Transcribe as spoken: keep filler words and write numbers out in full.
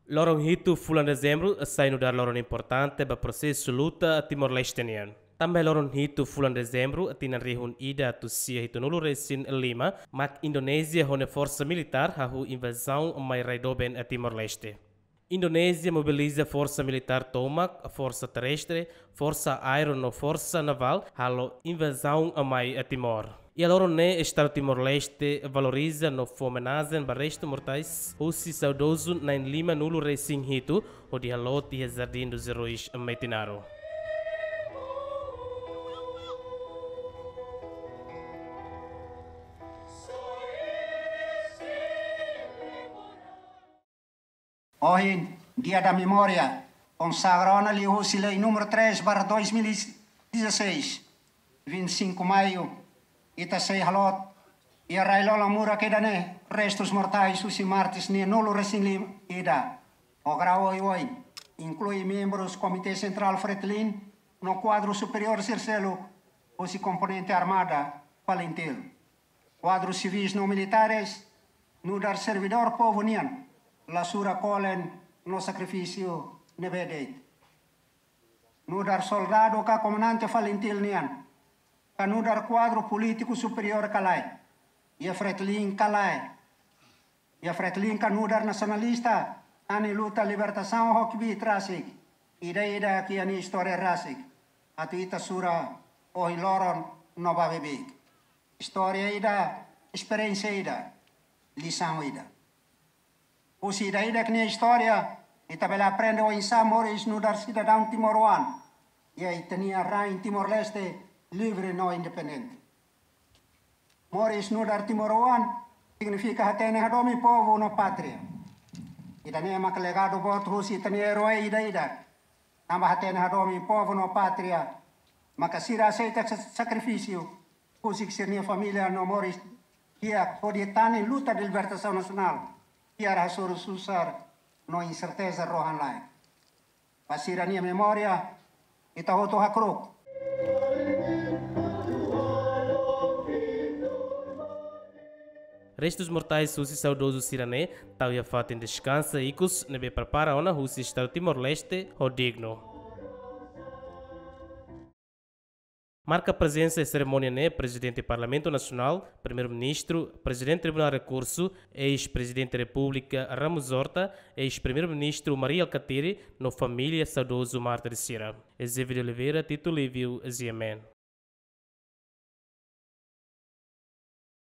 Loron hitu fulan Dezembru sai nu'udar loron importante ba prosesu luta Timor-Leste nian. Tanba loron hitu fulan Dezembru tinan rihun ida atus sia hitunulu resin lima, mak Indonézia ho nia forsa militár hahú invazaun mai rai doben Timor-Leste. Indonézia mobiliza forsa militár tomak, forsa terrestre, forsa aéreu no forsa navál halo invazaun mai Timor. Iha loron ne'e Estadu Timor-Leste valoriza no fó omenajen ba restu mortais husi saudozu na'in lima nulu resin hitu, hodi haloot iha Jardim dos Heróis Metinaro. Ohin, Dia da Memória, konsagra ona liuhusi Lei número três barra dois mil e dezasseis, vinte e cinco Maio, ita sei haloot iha rai-lola murak ida-ne'e restus mortais husi mártires na'in nulu resin lima ida, ho grau oioin, inklui membrus Komité Sentrál Fretilin no kuadru superiór sira seluk husi komponente armada Falintil. Kuadru sivis no militares, nu'udar servidór povu nian, la sura kolen no sakrifísiu ne'ebé de'it. Nu'udar soldadu ka komandante Falintil nian, ka nu'udar kuadru polítiku superiór ka lae, iha Fretilin ka lae, iha Fretilin ka nu'udar nasionalista, nia luta libertasaun ho kbiit rasik, ida-idak iha nia istória rasik, atu ita sura ohin loron no ba beibeik. Istória ida, esperiénsia ida, lisaun ida. Husi ida-idak nia istória, ita bele aprende oinsá moris nu'udar sidadaun timoroan iha ita-nia rain Timor-Leste livre no independente. Moris nu'udar timoroan signifika hatene hadomi povu no pátria. Ida-ne'e maka legadu boot husi ita-nia erói ida-idak. Tanba hatene hadomi povu no pátria, maka sira aseita sa-, sakrifísiu husik sira-nia família no moris di'ak hodi tane luta de libertasaun nasionál, fiar hasoru susar no inserteza rohan-laek. Ba sira-nia memória, ita hotu hakru'uk. Restus mortais husi saudozu sira-ne'e tau iha fatin deskansa ikus ne'ebé prepara ona husi Estadu Timor-Leste ho dignu. Marka prezensa iha serimónia ne'e Prezidente Parlamentu Nasionál, Primeiru-Ministru, Prezidente Tribunál Rekursu, eis-Prezidente Repúblika Ramos Horta, eis-Primeiru-Ministru Mari Alkatiri, no família saudozu mártir sira. Eusébio de Oliveira, Tito Livio, G M N.